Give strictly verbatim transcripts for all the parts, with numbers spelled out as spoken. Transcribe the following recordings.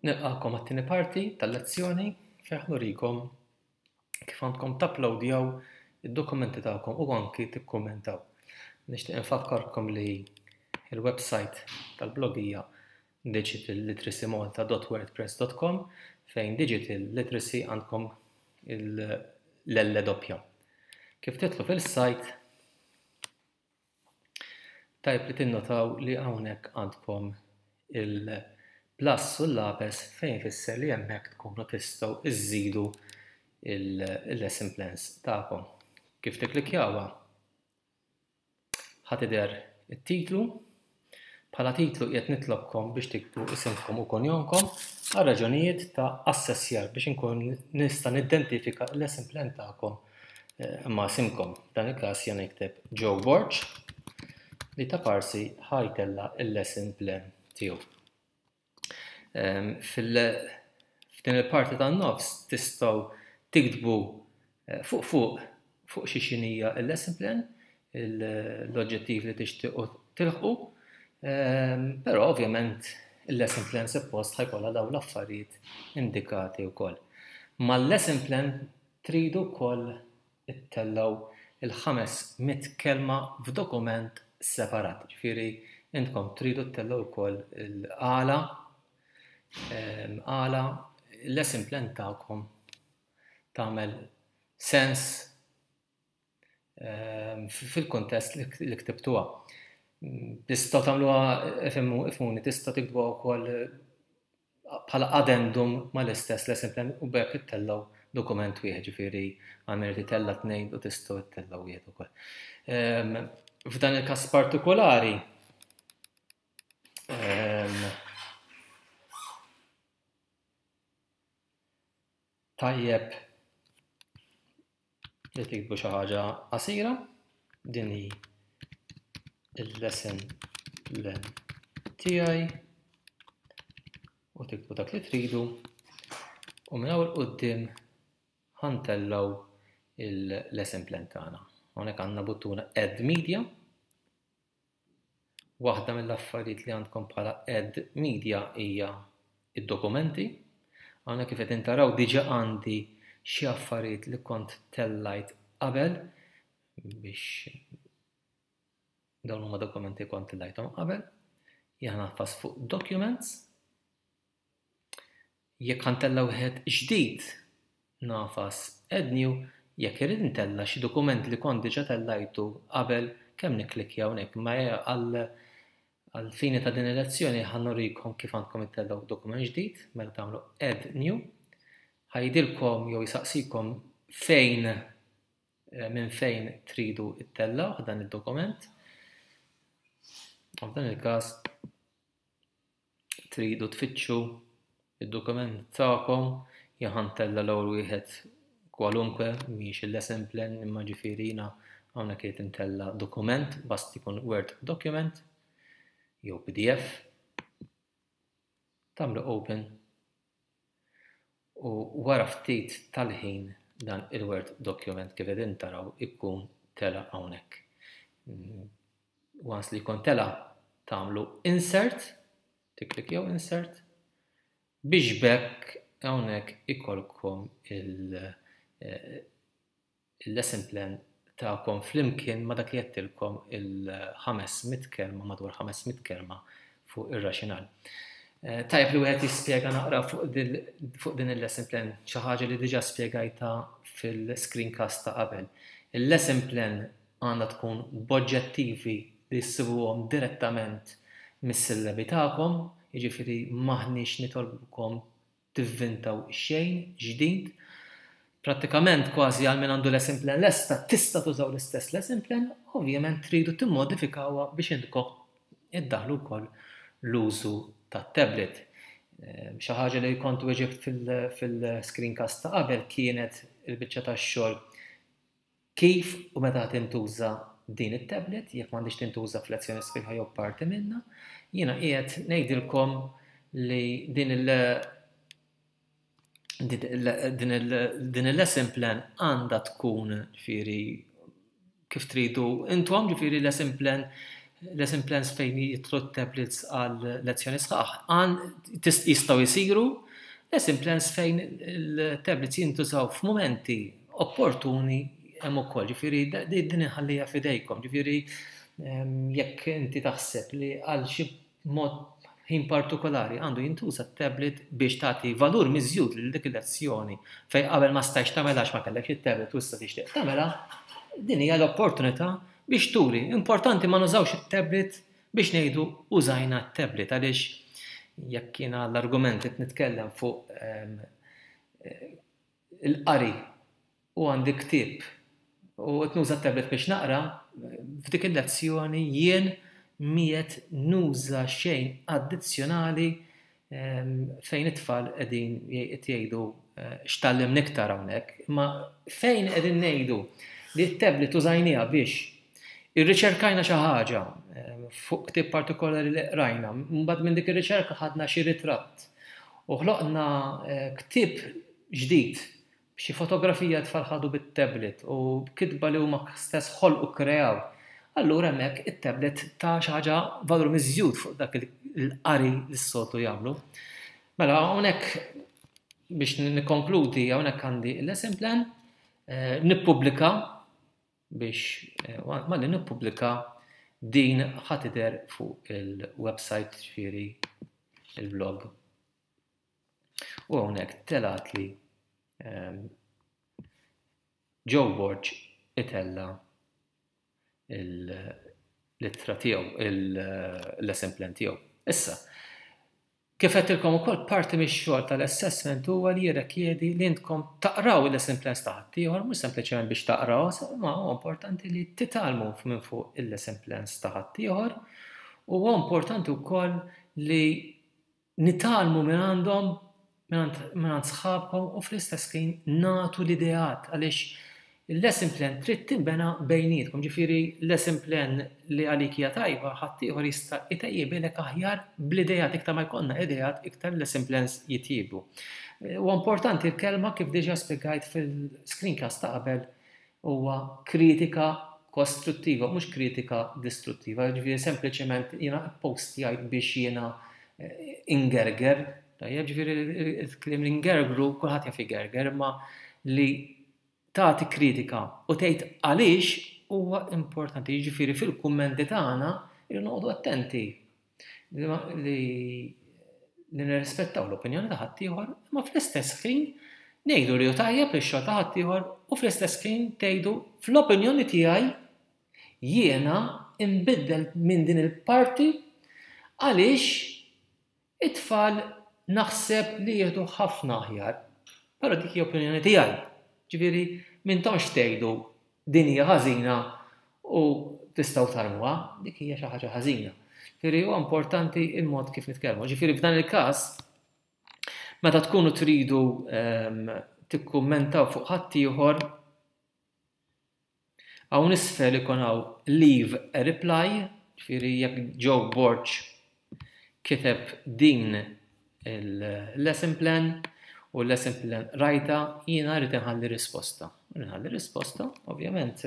Nilqakom għat-tieni parti tal-lezzjoni fejn nurikom kif għandkom tapplowdjaw id-dokumenti tagħkom u anki tikkummentaw. Nixtieq infakkarkom li il-website tal-blog hija digitalliteracymalta dot wordpress dot com fejn digital literacy għandkom l-L doppja. Kif tidħlu fil-site, tajb li tinnotaw li hawnhekk għandkom il-plus u l-lapes, fejn fisser li hemmhekk tkunu tistgħu iżidu il-lesson plans tagħkom. Kif tikklikjawha, ħa tidher it-titlu. Bħala titlu qiegħed nitlobkom biex tiktbu isimkom u kunjomkom għal raġunijiet ta' assessjar, biex inkun nista' nidentifika l-lesson plan tagħkom eh, ma' isimkom. Dan il-każ jien nikteb Joe Borg li ta' parsi ħa jtella' il-lesson plan tiegħu. F'din il-parti tan-nofs tistgħu tiktbu eh, fuq fuq fuq xi xinija il-lesson plan, l-oġġettiv li tixtiequ tilħqu, però ovvjament il-lesson plan suppost ħa jkollha dawn l-affarijiet indikati wkoll. Mal-lesson plan tridu wkoll ittellgħu il-ħames mitt kelma f'dokument separat. Ġifieri intkom tridu ttellgħu wkoll il-għala għala il-lesson plan tagħkom tagħmel sens fil-kontest li ktibtuha. Tistgħu tagħmluha, ifhmuni, tistgħu tiktbuha wkoll bħala addendum mal-istess lesson plan u b'hekk ittellgħu dokument wieħed, ġifieri għamil titella' tnejn u tistgħu ttellgħu wieħed ukoll. F'dan il-każ partikolari, Ehm, tajjeb li tiktbu xi ħaġa qasira, din hi il-lesson plan tiegħi, u tiktbu dak li tridu, u minn hawn quddiem ħa ntellgħu il-lesson plan tagħna. Hawnhekk għandna buttuna Add Media. Waħda mill-affarijiet li għandkom bħala Add Media hija id-dokumenti. Hawnhekk, kif qed taraw, diġà għandi xi affarijiet li kont tellajt qabel, biex dawn huma dokumenti kont tellajthom qabel. Jien nagħfas fuq Documents. Jekk ħa ntella' wieħed ġdid, nagħfas Add New. Jekk irid ntella' xi dokument li kont diġà tellajtu qabel, kemm nikklikja hawnhekk. Ma għal għal fini ta' din il-lezzjoni ħa nurikom kif għandkom ittellgħu dokument ġdid, mela tagħmlu Add New. Ħa jgħidilkom jew jisaqsikom fejn eh, minn fejn tridu ittellgħu dan id-dokument. F'dan il-każ tridu tfittxu id-dokument tagħkom. Jien ħa ntella' l-ewwel wieħed kwalunkwe, mhix il-lesson plan, imma ġifieri jiena hawnhekk qed intella' dokument, basta jkun Word document jew P D F. Tagħmlu open u wara ftit tal-ħin dan il-Word document, kif qegħdin taraw, ikun tela' hawnhekk. Once li jkun tela', tagħmlu insert, tikklikjaw insert biex b'hekk hawnhekk ikolkom il- eh, il-lesson plan tagħkom flimkien ma' dak li għedtilkom, il-ħames mitt kelma, madwar ħames mitt kelma fuq ir-rationale. Eh, tajjeb li wieħed jispjega naqra fuq din il-lesson plan, xi ħaġa li diġà spjegajta fil-screencast ta' qabel. Il-lesson plan għandha tkun b'oġġettivi li ssibuhom direttament mis-sillabi tagħkom, jiġifieri m'aħniex nitolbukom tivvintaw xejn ġdid. Prattikament kważi għal min għandu lesson plan lesta, tista' tużaw l-istess lesson plan, ovvjament tridu timmodifikawha biex intkom iddaħlu wkoll l-użu tat-tablet. Ehm, xi ħaġa li kont weġibt fil-screencast ta' qabel kienet il-biċċa tax-xogħol kif u meta tintuża din it-tablet, jekk m'għandix tintuża f'lezzjoni sħiħa jew parti minna. Jiena qiegħed ngħidilkom li din il- din il-lesson plan għandha tkun, ġifieri, kif tridu intom, ġifieri lesson plan Lesson plans fejn jidħlu tablets għal lezzjoni sħaħ, għan jistgħu jsiru lesson plans fejn il-tablets jintużaw f'mumenti opportuni hemm ukoll. Ġifieri din inħallija f'idejkom. Ġifieri jekk inti taħseb li għal xi mod ħin partikolari għandu jintuża tablet biex tagħti valur miżjud lil dik il-lezzjoni fejn qabel ma stajx tagħmilha ma kellekx it-tablet u issa tixtieq tagħmilha, din hija l-opportunità biex turi. Importanti ma nużawx it-tablet biex ngħidu użajna t-tablet, għaliex jekk jiena l-argument qed nitkellem fuq il-qari u għandi ktieb u qed nuża t-tablet biex naqra, f'dik il-lezzjoni jien miet nuża xejn addizzjonali fejn it-tfal qegħdin jgħidu x'tallimna iktar hawnhekk, imma fejn qegħdin ngħidu li t-tablet użajniha biex irriċerkajna xi ħaġa fuq ktieb partikolari li qrajna, mbagħad minn dik ir-riċerka ħadna xi ritratt u ħloqna ktieb ġdid b'xi fotografija tfal ħadu bit-tablet u kitba li huma stess ħolqu kreaw. Allura hemmhekk it-tablet ta' xi ħaġa valur miżjud fuq dak il-qari li s-soltu jagħmlu. Mela hawnhekk biex nikkonkludi, hawnhekk għandi il-lesson plan, nippubblika biex malli nippubblika din ħa tidher fuq il-website, ġifieri il-blog. U hawnhekk telat li Joe Borg itella l-ittra tiegħu, il-lesson plan tiegħu. Issa, kif għedtilkom ukoll, parti mix-xogħol tal-assessment huwa li jirrikjedi li intkom taqraw il-lesson plans ta' ħaddieħor, mhux sempliċement biex taqraw, ma huwa importanti li titgħallmu minn fuq il-lesson plans ta' ħaddieħor, u huwa importanti wkoll li nitgħallmu minn għandhom, minn sħabkom, u fl-istess ħin nagħtu l-ideat, għaliex il-lesson plan trid tinbena bejnietkom, ġifieri lesson plan li għalik hija tajba, ħaddieħor jista' itejjibilek aħjar bl-ideat, iktar ma jkollna ideat, iktar lesson plans jitjiebu. Huwa importanti l-kelma, kif diġà spjegajt fil-screencast ta' qabel, huwa kritika kostruttiva, mhux kritika distruttiva, ġifieri sempliċement jiena postjajt biex jiena ingerger, tajjeb, ġifieri il-kliem li ngergru, kulħadd jaf igerger, imma li tagħti kritika u tgħid għaliex huwa importanti. Jiġifieri fil-kummenti tagħna irridu noqogħdu attenti li li nirrispettaw l-opinjoni ta' ħaddieħor, imma fl-istess ħin ngħidu li hu tajjeb ix-xogħol ta' ħaddieħor, u fl-istess ħin tgħidu fl-opinjoni tiegħi jiena nbiddel minn din il-parti għaliex it-tfal naħseb li jieħdu ħafna aħjar. Però dik hija opinjoni tiegħi. Ġifieri m'intomx tgħidu din hija ħażina u tistgħu tarmuha, dik hija xi ħaġa ħażina. Ġifieri huwa importanti il-mod kif nitkellmu. Ġifieri f'dan il-każ meta tkunu tridu tikkummentaw fuq ħaddieħor, hawn isfel ikun hawn leave a reply, ġifieri jekk Joe Borg kiteb din il-lesson plan u l-lesson plan rajta, jiena rrid inħalli risposta. Nħalli risposta, ovvjament,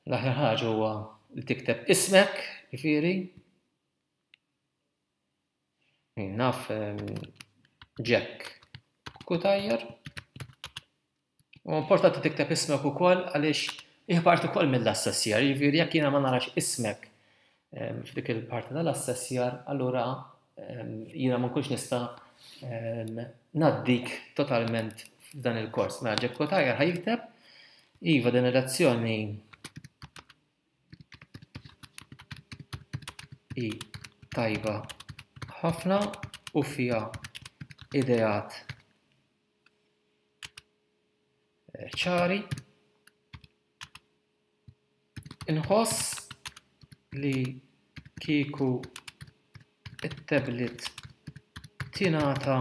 l-aħjar ħaġa huwa li tikteb ismek, ġifieri. Naf Jack Cutajar. U importanti tikteb ismek ukoll għaliex hija parti ukoll mill-assessjar, ġifieri jekk jiena ma narax ismek f'dik il-parti tal-assessjar, allura jiena ma nkunx nista' ngħaddik totalment f'dan il-kors. Mela Jack Cutajar ħa jikteb, iva din il-lezzjoni hi tajba ħafna u fiha ideat ċari. Inħoss li kieku it-tablet tingħata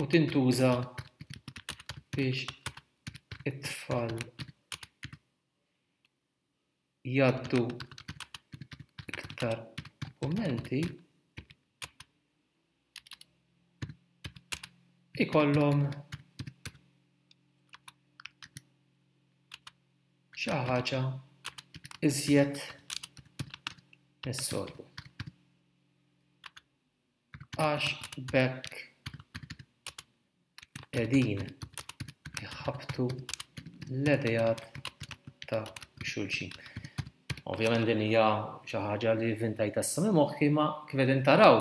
u tintuża biex it-tfal jgħaddu iktar kummenti, ikollhom xi ħaġa iżjed mis-soltu, għax b'hekk qegħdin iħabbtu l-ideat ta' xulxin. Ovvjament din hija xi ħaġa li vvintajtha issa minn moħħi, ma kif qegħdin taraw,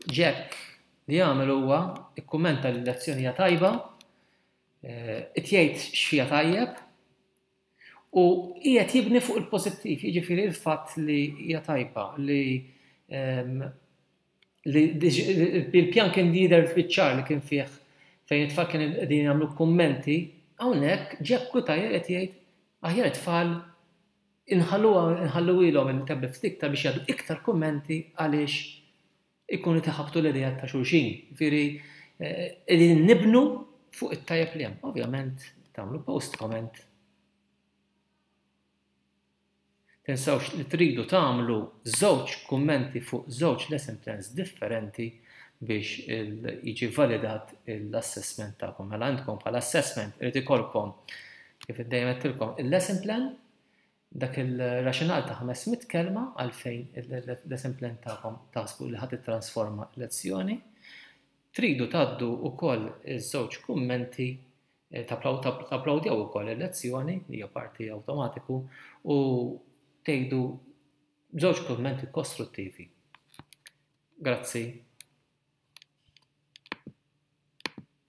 Jack li għamel huwa ikkummenta li l-lezzjoni hija tajba, qed jgħid x'fiha tajjeb u qiegħed jibni fuq il-pożittiv, jiġifieri l-fatt li hija tajba, li li il-pjan kien jidher fiċ-ċar li kien fih fejn it-tfal kien qegħdin jagħmlu kummenti, hawnhekk Jack Cutajar qed jgħid aħjar it-tfal inħalluhom il-tablet ftit iktar biex jgħaddu iktar kummenti għaliex ikunu iħabbtu l-ideat ta' xulxin. Jiġifieri qegħdin nibnu fuq it-tajjeb li hemm. Ovvjament tagħmlu post comment. Tinsawx li tridu tagħmlu żewġ kummenti fuq żewġ lesson plans differenti biex jiġi validat l-assessment tagħkom. Mela għandkom bħala assessment irid ikollkom, kif dejjem għedtilkom, il-lesson plan, dak il-rationale ta' ħames mitt kelma għalfejn il-lesson plan tagħkom taħsbu li ħadd titrasforma lezzjoni. Tridu tgħaddu wkoll iż-żewġ kummenti, tapplawdjaw ukoll il-lezzjoni li hija parti awtomatiku u tgħidu żewġ kummenti kostruttivi. Grazzi.